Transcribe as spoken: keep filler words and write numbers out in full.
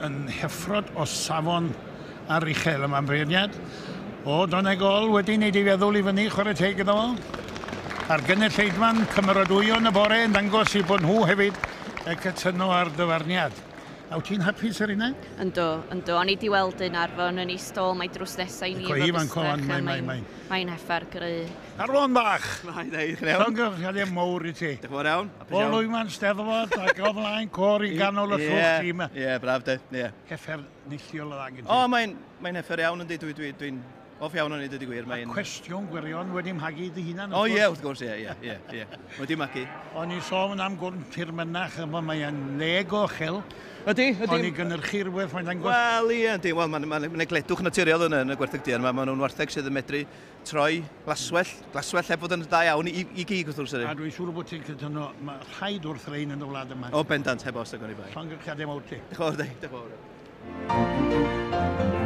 Yn heffrod o safon aruchel yma'n beirniad. O, Donegol wedi wneud ei feddwl i fyny, chwarae teg iddo fo. A'r gynulleidfa'n cymeradwyo yn y bore yn dangos i bod nhw hefyd y cytuno ar dyfarniad. A wyt ti'n hapus ar hynna? Yndw, yndw. O'n i di weld un Arfon yn ei stôl, mae drws nesau i ni efo bystach. Mae'n, mae'n, mae'n. Mae'n heffer gry. Arfon bach! Mae'n neud, chi'n iawn? Llongyfarchiadau mawr i ti. Diolch yn fawr iawn. O lwyfan Steddfod ac o flaen côr i ganol y llwch ti yma. Ie, braf de, ie. Heffer neilltuol o dda gen ti. O, mae'n mae'n heffer iawn yndi, dwi'n dwi, dwi off iawn o'n i, dweud y gwir. Mae'n... Cwestiwn gwirion wedi magu dy hunan. O ie, wrth gwrs, ie, ie, ie, ie. Wedi magu. O'n i sôn am gwrn tir mynach yma, mae'n leg o uchel. Ydy, ydy. O'n i gynhyrchu rhywbeth, mae'n dangos. Wel, ie, ydy. Wel, mae'n ma, ma, ma gledwch naturiol yn, yn y gwartheg duon. Mae ma nhw'n wartheg sydd yn medru troi glaswell, glaswell heb fod yn dda iawn i, i gig wrth gwrs. A dwi'n siŵr bod ti'n cytuno, mae rhaid wrth rein yn y wlad yma. O, bendant, heb os, ag o'n i bai. Llongyfarchiadau mawr ti. Diolch yn fawr, diolch yn fawr.